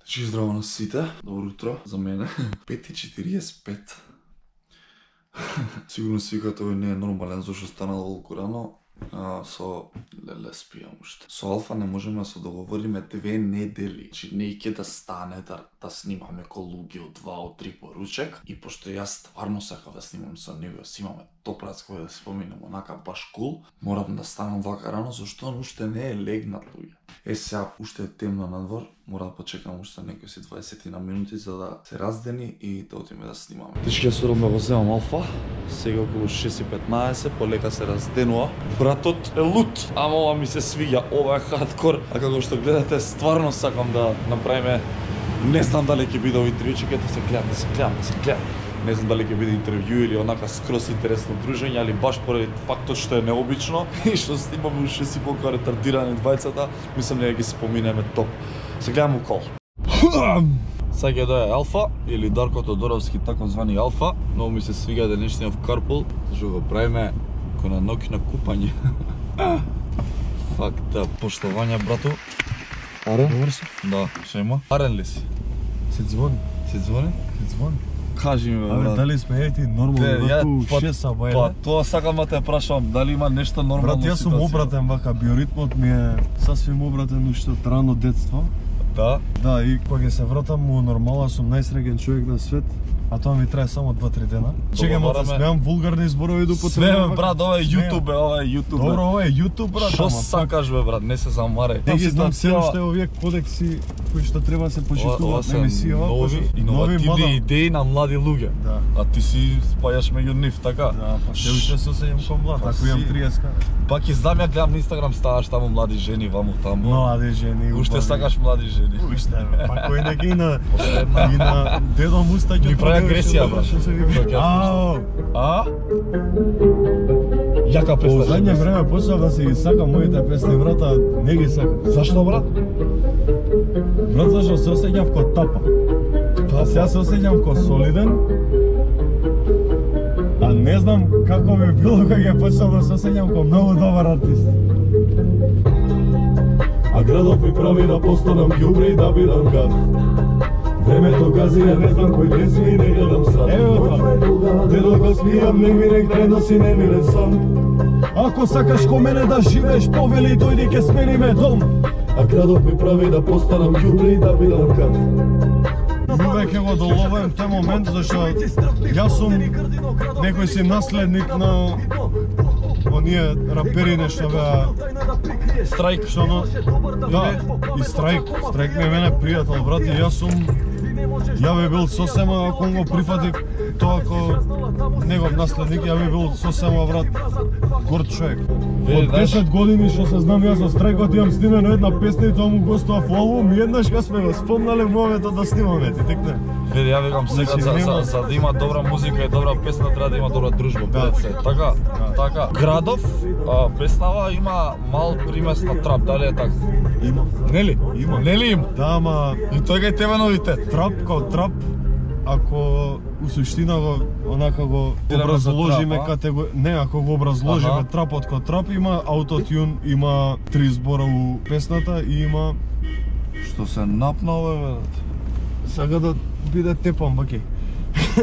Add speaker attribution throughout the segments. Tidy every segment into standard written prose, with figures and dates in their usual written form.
Speaker 1: Значи, здраво на сите, добро утро за мене. 5:45. Сигурно си викате овој не е нормален, зашто станало толку рано. Со леле спијам уште. Со Алфа не можеме да се договориме 2 недели. Значи не ќе да стане да снимаме ко луѓе од 2 од 3 поручек. И пошто јас стварно сакав да снимам со него, си имаме топрац кој да се поминеме онака баш кул, морам да станам вака рано, зашто он уште не е легнат луѓе. Сега уште е темно надвор, мора да почекам уште некои 20 на минути за да се раздени и да отиме да снимаме. Тишки ја сурам да го земам Алфа, сега околу 6:15, полека се разденува. Братот е лут, ама ова ми се свиѓа, ова е хардкор, а како што гледате, стварно сакам да направиме, не знам дали ќе биде овој интервју, чекайте се гледам. Не знам дали ќе биде интервју или онака скрос интересно дружење, али баш поради фактот што е необично и што снимаме уште си полку ретардирани двајцата, мислам дека ќе се поминеме топ. Се гледам укол. Сега ќе дојде Алфа или Дарко Тодоровски, тако звани Алфа. Многу ми се свига денешниот карпул, зашто го правиме кој на ноќно купање. Факта, поштовање брато. Аре? Добар си? Да, што има? Арен ли си?
Speaker 2: Се звони.
Speaker 1: Се звони?
Speaker 2: Се звони.
Speaker 1: Кажи ми,
Speaker 2: брат. Дали сме ети нормално ваку 6 саба,
Speaker 1: Па, тоа сакам да те прашам, дали има нешто нормално
Speaker 2: ситуација? Брат, јас сум обратен вака, биоритмот ми е сасвим обратен уште од рано детство.
Speaker 1: Да?
Speaker 2: Да, и кога се вратам у нормала, сум најсреќен човек на свет, а тоа ми трае само 2-3 дена. Чекам да смеам вулгарни зборови до
Speaker 1: потребно. Све, брат, ова е YouTube, ова е YouTube.
Speaker 2: Добро, ова е YouTube, брат.
Speaker 1: Што сакаш бе, брат, не се замарај.
Speaker 2: Не ги знам се уште овие кодекси кои што треба да се почитуваат на емисија,
Speaker 1: нови иновативни идеи на млади луѓе.
Speaker 2: Да.
Speaker 1: А ти си спајаш меѓу нив, така?
Speaker 2: Да, па се уште се осеќам ко млад, ако имам 30.
Speaker 1: Пак и знам, ја гледам на Инстаграм, ставаш таму млади жени, ваму таму.
Speaker 2: Млади жени.
Speaker 1: Уште сакаш млади жени.
Speaker 2: Уште, па кој неки и на дедо Мустаќ
Speaker 1: ми прави агресија, брат. Јака песна.
Speaker 2: Во задње време почнав да си ги сакам моите песни, брата, не ги сакам.
Speaker 1: Зашто, брат?
Speaker 2: Брат, зашто се осеќав ко тапа. А сега се осеќам ко солиден. А не знам како би било кога ќе почнав да се осеќам ко многу добар артист. А градот ми прави да постанам ѓубре и да бидам гад. Времето газира, не знам кој ден си и не гледам срад. Ево тоа. Дедо го смијам, не ми рек носи немилен сон. Ако сакаш ко мене да живееш, повели дојди ке смениме дом. А градот ми прави да постанам ѓубре и да бидам гад. Јувек ќе го доловам тој момент, зашто јас сум некој си наследник на оние рапери нешто беа
Speaker 1: Страйк,
Speaker 2: што да, и Страйк ми е мене пријател, брат, и јас сум ја би бил сосема ако го прифатик тоа како негов наследник, ја би бил сосема, брат, горд човек. Од 10 години што се знам јас со Страйкот имам снимено една песна и тоа му гостува во албум и еднаш кога сме го спомнале моментот да снимаме, ти текне.
Speaker 1: Види, ја викам сега за да има добра музика и добра песна треба да има добра дружба, брат се. Така, така. Градов песнава има мал примес на трап, дали е така?
Speaker 2: Има.
Speaker 1: Нели?
Speaker 2: Има.
Speaker 1: Нели има?
Speaker 2: Да, ама
Speaker 1: и тој е тебе новитет.
Speaker 2: Трап као трап, ако у суштина го онака го образложиме не, ако го образложиме трапот као трап, има аутотюн, има 3 збора у песната и има
Speaker 1: што се напна овој, брат.
Speaker 2: Сага да биде тепам, баки.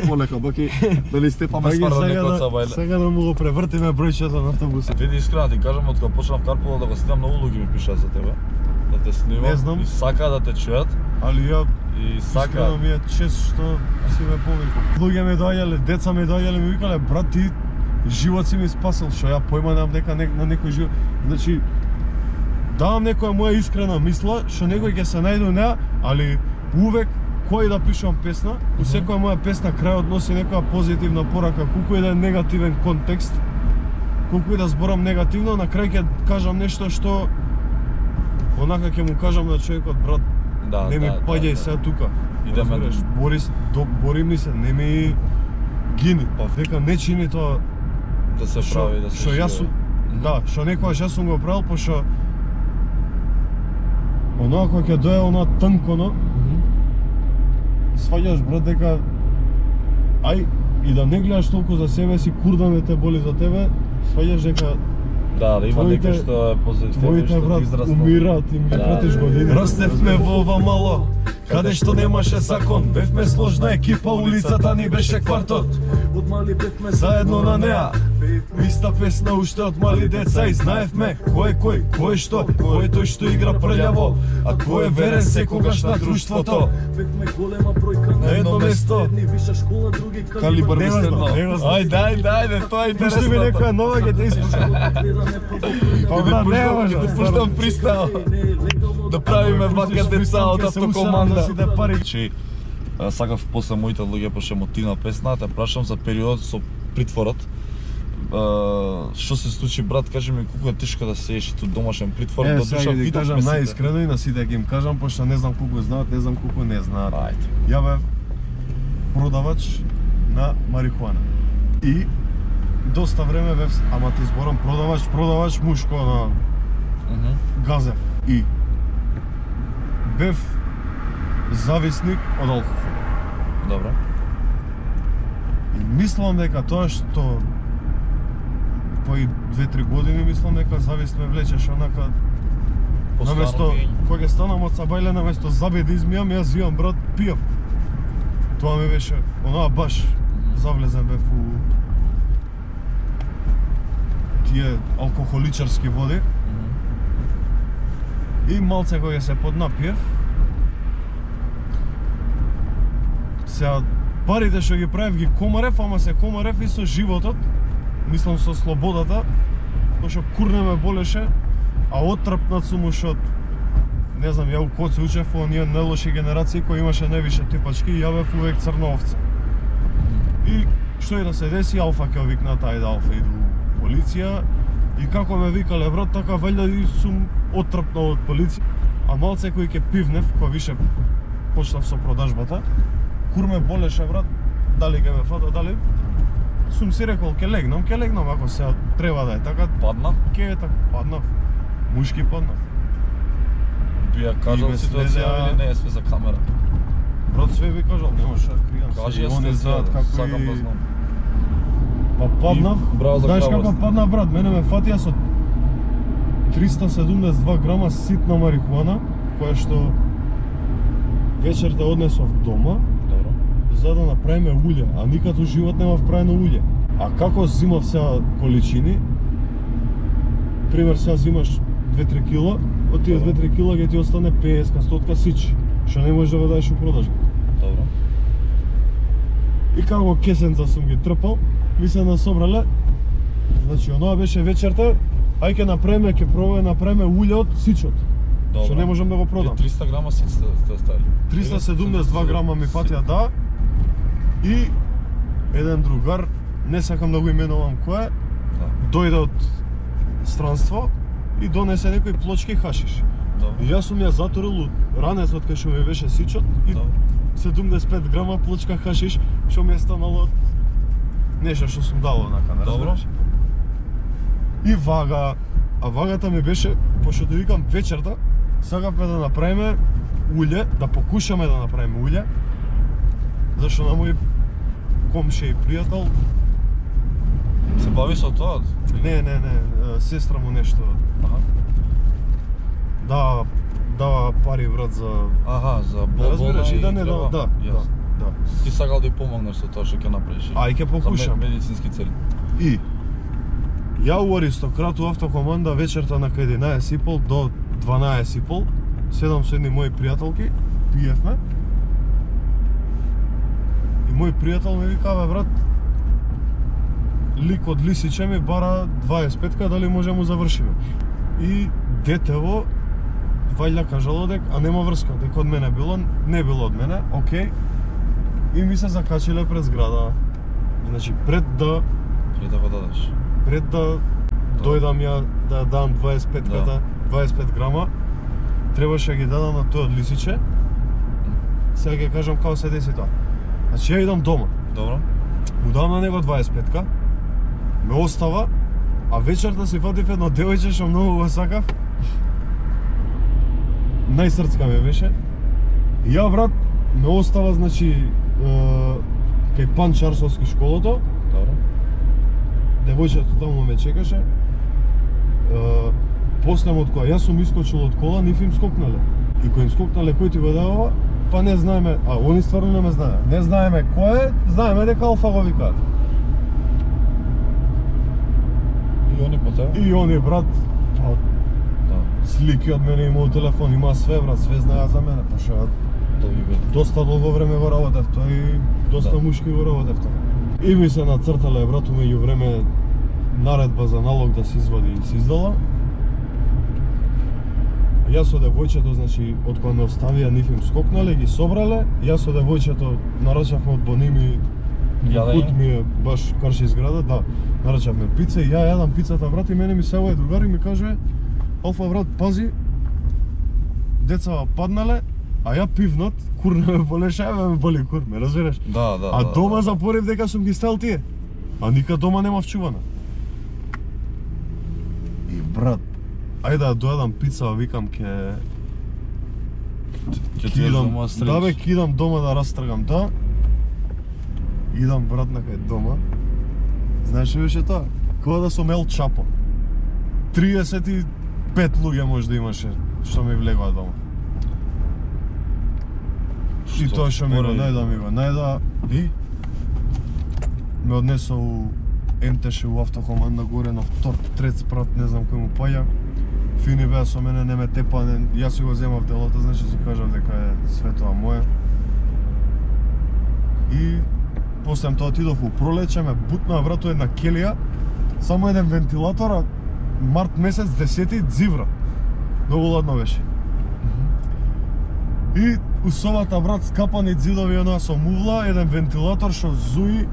Speaker 1: Полека, баки, дали степаме стварно некој са бајле.
Speaker 2: Сега да му го превртиме бројчето на автобусот.
Speaker 1: Види, искрено ти кажам, од кога почнав карпулот да го снимам, многу луѓе ми пишаат за тебе. Да те снимам и сака да те чујат.
Speaker 2: Али ја
Speaker 1: и сака.
Speaker 2: Искрено ми е чест што си ме повикал. Луѓе ми доаѓале, деца ми доаѓале, ми викале, брат, ти живот си ми спасил, што ја појма немам дека на некој живот. Значи, давам некоја моја искрена мисла, што некој ќе се најде неа, али увек кој да пишувам песна, у секоја моја песна крајот носи некоја позитивна порака, колку и да е негативен контекст, колку и да зборам негативно, на крај ќе кажам нешто што онака ќе му кажам на човекот, брат, не ми паѓај сега тука.
Speaker 1: Идеме
Speaker 2: бори ми се, не ми гини. Дека не чини тоа
Speaker 1: да се прави, да се живее.
Speaker 2: Да, што некојаш јас сум го правил, пошто оноа кога ќе дое оноа тнконо, сваѓаш, брат, дека ај и да не гледаш толку за себе си, курда не те боли за тебе, сваѓаш дека
Speaker 1: да има некој што е позитивен,
Speaker 2: твоите, брат, умираат и ми пратиш години.
Speaker 1: Растевме во ова мало
Speaker 2: каде што немаше закон. Бевме сложна екипа, улицата ни беше квартот.
Speaker 3: Од мали бевме
Speaker 2: Заедно на неа, иста песна уште од мали деца и знаевме кој е кој е што, кој е тој што игра прљаво, а кој е верен секогаш на друштвото.
Speaker 3: Бевме голема бројка
Speaker 2: На едно место.
Speaker 3: Едни виша школа, други
Speaker 1: Калибар
Speaker 2: Не
Speaker 1: мистер
Speaker 2: знам,
Speaker 1: Но.
Speaker 2: не знам.
Speaker 1: Ајде, тоа е
Speaker 2: Пушти ми
Speaker 1: интересно.
Speaker 2: некоја нова, ќе те испушам. Па брат, не може.
Speaker 1: Да пуштам пристал. Да правиме вака деца од автокоманда. Значи, сакав после моите луѓе пошто мотивна песна, те прашам за период со притворот. Што се случи, брат, кажи ми колку е тешко да седиш ту домашен притвор,
Speaker 2: Е,
Speaker 1: до
Speaker 2: сега
Speaker 1: душа
Speaker 2: ќе ти
Speaker 1: видов
Speaker 2: кажам
Speaker 1: месите.
Speaker 2: најискрено и на сите ќе им кажам, пошто не знам колку знаат, не знам колку не знаат.
Speaker 1: Ајде.
Speaker 2: Ја бев продавач на марихуана. И доста време бев, ама ти зборам продавач мушко на газев. И бев зависник од алкохол.
Speaker 1: Добро.
Speaker 2: И мислам дека тоа што по 2-3 години мислам дека завист ме влечеше онака наместо кога ќе станам од сабајле, наместо забе да измијам, јас вијам брат, пијам. Тоа ми беше онаа баш завлезен бев у тие алкохоличарски води. И малце кога се поднапиев, сега парите што ги правев ги комарев, ама се комарев и со животот, мислам со слободата, пошто курне ме болеше, а оттрпнат сум уште од, не знам, ја у коци учев во оние најлоши генерации кои имаше највише типачки и ја бев увек црна овца. И што и да се деси, Алфа ќе викнат, ајде Алфа иду у полиција, и како ме викале брат, така вајда и сум оттрпнал од полиција. А малце кој ќе пивнев, кога више почнав со продажбата, кур ме болеше брат, дали ќе ме фата, дали сум си рекол ќе легнам ако се треба да е така.
Speaker 1: Падна?
Speaker 2: Ќе е така, паднав. Мушки паднав.
Speaker 1: Би ја кажал
Speaker 2: И ме
Speaker 1: ситуација
Speaker 2: следеа-
Speaker 1: или не е све за камера?
Speaker 2: Брат све би кажал, не може да кријам.
Speaker 1: Кажи
Speaker 2: се,
Speaker 1: ја
Speaker 2: они знаат
Speaker 1: сте,
Speaker 2: како
Speaker 1: сакам да
Speaker 2: и...
Speaker 1: знам.
Speaker 2: Па паднав,
Speaker 1: И браво за
Speaker 2: знаеш како
Speaker 1: храброст.
Speaker 2: паднав брат, мене ме фатија со 372 грама ситна марихуана, која што вечерта однесов дома,
Speaker 1: Добро.
Speaker 2: за да направиме улје, а никад у живот немав правено улје. А како зимав сега количини, пример сега зимаш 2-3 кила, од тие 2-3 кила ќе ти остане 50-100 сич, што не можеш да го дадеш у продажба.
Speaker 1: Добро.
Speaker 2: И како кесенца сум ги трпал, ми се насобрале. Значи, онаа беше вечерта, ај ќе направиме, ќе пробаме направиме улје од сичот.
Speaker 1: Добро.
Speaker 2: Што не можам да го продам.
Speaker 1: 300 грама сит сте ставили.
Speaker 2: 372 грама ми фатија, да. И еден другар, не сакам да го именувам кој е,
Speaker 1: Да.
Speaker 2: дојде од странство и донесе некои плочки хашиш.
Speaker 1: Добро.
Speaker 2: И јас сум ја затурил од ранецот кај што ми беше сичот и
Speaker 1: Добро.
Speaker 2: 75 грама плочка хашиш, што ми е станало од нешто што сум дал онака, не
Speaker 1: Добро.
Speaker 2: разбираш? И вага, а вагата ми беше, пошто да викам вечерта, сакавме да направиме улје, да покушаме да направиме улје, зашто на мој комши и пријател,
Speaker 1: Се бави со тоа?
Speaker 2: не, сестра му нешто,
Speaker 1: Аха.
Speaker 2: дава пари брат за...
Speaker 1: Аха, за
Speaker 2: Да
Speaker 1: болна
Speaker 2: разбираш и да не
Speaker 1: крва.
Speaker 2: да,
Speaker 1: Јасно.
Speaker 2: да.
Speaker 1: Ти сакал да ја помогнеш со тоа што ќе направиш.
Speaker 2: Ај ќе покушам.
Speaker 1: За медицински цели.
Speaker 2: И ја у Аристократ у автокоманда вечерта на 11:30 до 12:30 седам со едни мои пријателки, пиевме. И мој пријател ми вика, бе брат, лик од Лисиче ми бара 25-ка, дали може му завршиме. И детево вајда кажало а нема врска, дека од мене било, не било од мене, окей. И ми се закачиле пред зграда. Значи пред да дојдам ја да дам 25-ката, 25 грама, требаше ги дадам на тој од Лисиче. Сега ќе кажам како се деси тоа. Значи ја идам дома,
Speaker 1: Добро.
Speaker 2: му дам на него 25-ка, ме остава, а вечерта си фатив едно девојче што многу го сакав. Најсрцка ме беше. И ја брат, ме остава, значи, кај Панчарсовски школото,
Speaker 1: Добро.
Speaker 2: девојчето таму ме чекаше. После од која јас сум искочил од кола, нив им скокнале. И кој им скокнале, кој ти го дава, па не знаеме, а они стварно не ме знаеме. Не знаеме кој е, знаеме дека Алфа го викаат.
Speaker 1: И они по тебе?
Speaker 2: И они, брат, па, слики од мене имаат телефон, има све, брат, све знаеа за мене, па што доста долго време го работев тоа и доста мушки го работев тоа. И ми се нацртале, брат, меѓу време наредба за налог да се извади и се издала. Јас со девојчето, значи, од кога ме оставија, нив им скокнале, ги собрале, јас со девојчето нарачавме од Боними, пут ми е баш карши изграда, да, нарачавме пица и ја јадам пицата, брат, и мене ми се овој другар и ми каже: Алфа, брат, пази, деца паднале, а ја пивнат, курна ме болеше, ме боли кур, ме разбираш?
Speaker 1: Да.
Speaker 2: А дома запорив дека сум ги стел тие. А ника дома нема вчувана. И брат, ајде да дојадам пица, викам ќе
Speaker 1: идам,
Speaker 2: да бе, ќе идам дома да растргам, да. Идам, брат, на кај дома. Знаеш што беше тоа? Кога да сум Ел Чапо. 35 луѓе може да имаше што ми влегоа дома. И тоа што ми го најда и ме однесо у МТШ у автокоманда горе на втор, трет спрат, не знам кој му паѓа. Фини беа со мене, не ме тепа, јас си го земав делото, значи си кажав дека е све тоа моје. И после тоа отидов у пролече, ме бутнаа, брато, една келија, само еден вентилатор, а март месец 10 дзивра. Многу ладно беше. И у собата, брат, скапани ѕидови онаа со мувла, еден вентилатор што зуи,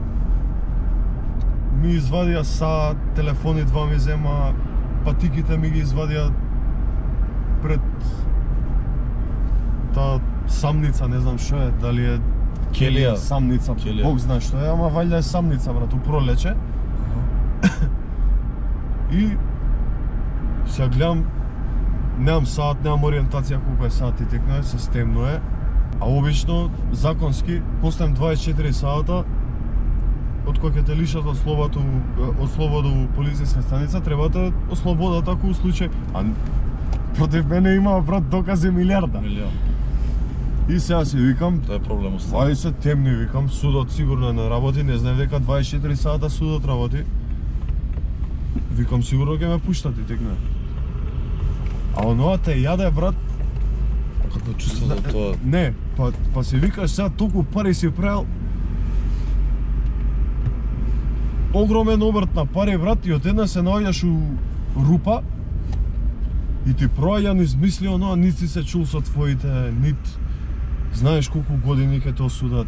Speaker 2: ми извадија саат, телефони два ми зема, патиките ми ги извадија пред таа самница, не знам што е, дали е
Speaker 1: келија,
Speaker 2: самница, Бог знае што е, ама вајда е самница, брат, у пролече. И сега гледам, немам саат, немам ориентација колку е саат и текно е, системно е, а обично, законски, после 24 саата, од кога ќе те лишат од слобода у полициска станица, треба да ослободат ако у случај. А против мене има, брат, докази милиарда. И сега си викам,
Speaker 1: тоа е проблем остави.
Speaker 2: Ај се темни, викам, судот сигурно не работи, не знаев дека 24 сата судот работи. Викам, сигурно ќе ме пуштат и текне. А оноа те јаде, брат.
Speaker 1: Какво чувство за тоа?
Speaker 2: Не, па си викаш сега толку пари си правил. Огромен обрт на пари, брат, и од една се наоѓаш у рупа и ти проаѓа низ мисли оноа, нит си се чул со твоите, нит знаеш колку години ќе те осудат.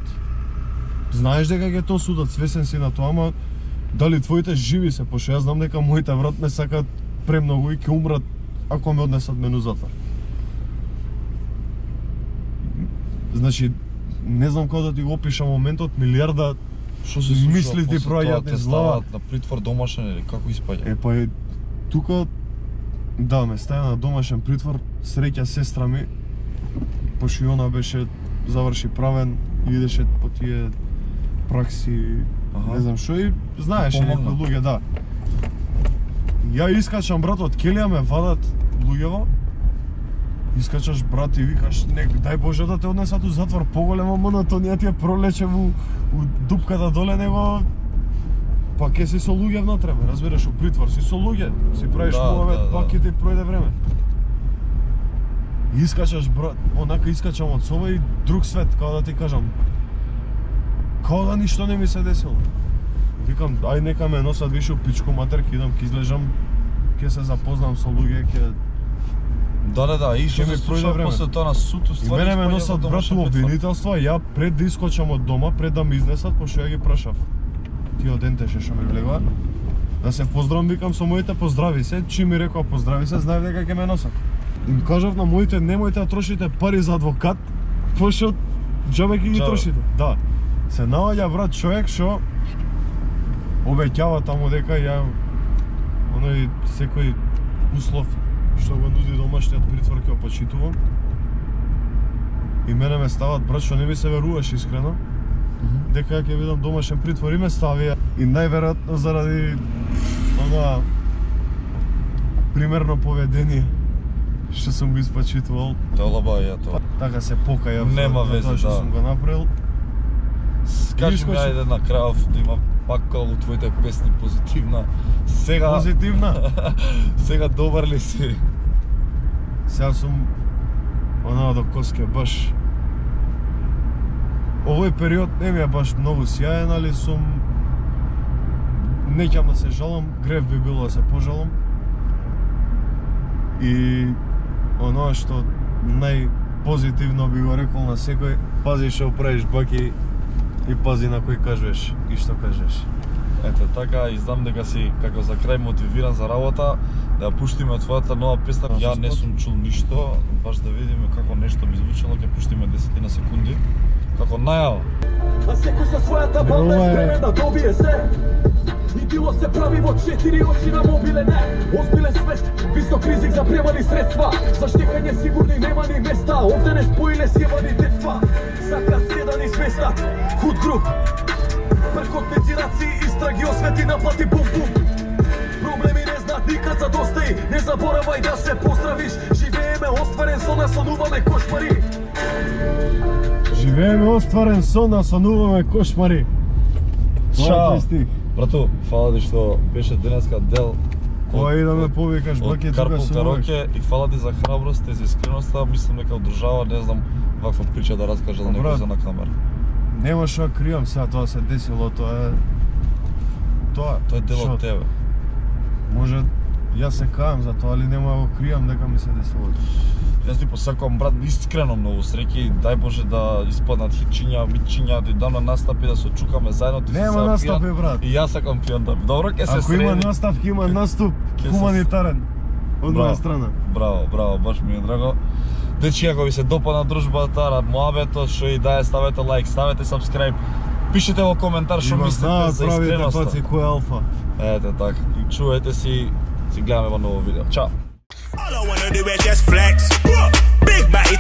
Speaker 2: Знаеш дека ќе те осудат, свесен си на тоа, ама дали твоите живи се, пошто јас знам дека моите, брат, ме сакат премногу и ќе умрат ако ме однесат мену затвор. Значи, не знам како да ти го опишам моментот, милиарда
Speaker 1: што се случува
Speaker 2: мисли ти проаѓаат низ глава.
Speaker 1: На притвор домашен или како испаѓа?
Speaker 2: Па е тука, да, ме стави на домашен притвор, среќа сестра ми, пошто и она беше заврши правен и идеше по тие пракси, не знам што, и знаеше некои луѓе, да. Ја искачам, брат, од келија ме вадат луѓево. Искачаш, брат, и викаш, дај Боже да те однесат у затвор, поголема монотонија ти е пролече у дупката доле него, па ке си со луѓе внатре, разбираш, у притвор си со луѓе, си правиш муавет, па ке ти пројде време. И искачаш, брат, онака искачам од соба и друг свет, како да ти кажам. Као да ништо не ми се десило. Викам, ај нека ме носат више у пичку матер, ке идам, ке излежам, ке се запознам со луѓе, ке...
Speaker 1: Да, и што се случува после тоа на суд,
Speaker 2: уствари мене ме носат, брат, у обвинителство, ја пред да искочам од дома, пред да ме изнесат, пошто ја ги прашав тие од НТШ што ми влегоа, да се поздравам, викам со моите поздрави се, чим ми рекоа поздрави се, знаев дека ќе ме носат. Им кажав на моите, немојте да трошите пари за адвокат, пошто џабе ги трошите. Да. Се наоѓа, брат, човек што обеќава таму дека ја оној секој услов што го нуди домашниот притвор ќе опачитувам. И мене ме стават, брат, што не ми се веруваш искрено, дека ќе видам домашен притвор и ме ставија. И најверојатно заради онаа примерно поведение што сум го испачитувал.
Speaker 1: Тоа лаба ја тоа.
Speaker 2: така се покајав
Speaker 1: Нема
Speaker 2: за
Speaker 1: вeze,
Speaker 2: тоа што
Speaker 1: да.
Speaker 2: сум го направил.
Speaker 1: Кажи ми, ајде на крајов да има пак како во твоите песни позитивна. Сега
Speaker 2: Позитивна.
Speaker 1: сега добар ли си?
Speaker 2: Сега сум онаа до коске баш. Овој период не ми е баш многу сјаен, али сум не ќе да се жалам, грев би било да се пожалам. И оноа што најпозитивно би го рекол на секој, пази што правиш баки и пази на кој кажеш и што кажеш.
Speaker 1: Ете така, и знам дека си како за крај мотивиран за работа, да ја пуштиме твојата нова песна. Ја не сум чул ништо, баш да видиме како нешто би звучело, ќе пуштиме 10 на секунди. Како најава.
Speaker 3: А секој со својата банда е спремен да добие се. Нитило се прави во 4 очи на мобилен, не. Озбилен свет, висок ризик за премали средства. За штекање сигурни нема ни места. Овде не споиле сјебани детства. Сакат се да ни сместат. Худ груп. Пркот медзираци истраги освети наплати бум-бум. Проблеми не знаат никад за доста и не заборавај да се поздравиш. Живееме остварен сон, наслонуваме кошмари.
Speaker 2: Живееме остварен сон, насонуваме кошмари.
Speaker 1: Чао. Брату, фала ти што беше денеска дел
Speaker 2: Кога и да ме повикаш, баке,
Speaker 1: од
Speaker 2: тука
Speaker 1: Карпул
Speaker 2: сум
Speaker 1: Кароке и фала ти за храброст и за искреноста. Мислам дека одржава, не знам, ваква прича да раскажа за некој
Speaker 2: брат,
Speaker 1: за на камера.
Speaker 2: Нема што кријам сега, тоа се десило, тоа е... Тоа
Speaker 1: Тоа е дел
Speaker 2: шо,
Speaker 1: од тебе.
Speaker 2: Може, јас се кајам за тоа, али нема да го кријам дека ми се десило.
Speaker 1: Јас ти посакувам, брат, искрено многу среќи, дај Боже да испаднат хитчиња, митчиња, да идам на настапи, да се очукаме заедно, ти
Speaker 2: Нема
Speaker 1: си сега
Speaker 2: настапи,
Speaker 1: пијан.
Speaker 2: брат.
Speaker 1: И јас сакам пијан да. Добро, ќе се
Speaker 2: Ако има
Speaker 1: среди.
Speaker 2: наставки, има наступ
Speaker 1: Ке се-
Speaker 2: хуманитарен од
Speaker 1: Браво.
Speaker 2: моја страна.
Speaker 1: Браво, браво, баш ми е драго. Дечи, ако ви се допадна дружбата, муабетот, што и дај, ставете лайк, ставете subscribe, пишете во коментар што
Speaker 2: И го
Speaker 1: мислите
Speaker 2: знаат
Speaker 1: за
Speaker 2: правите
Speaker 1: искреноста.
Speaker 2: паци кој е алфа.
Speaker 1: Ете така, и чувајте си, гледаме во ново видео. Чао!
Speaker 4: All I wanna do is just flex. Big body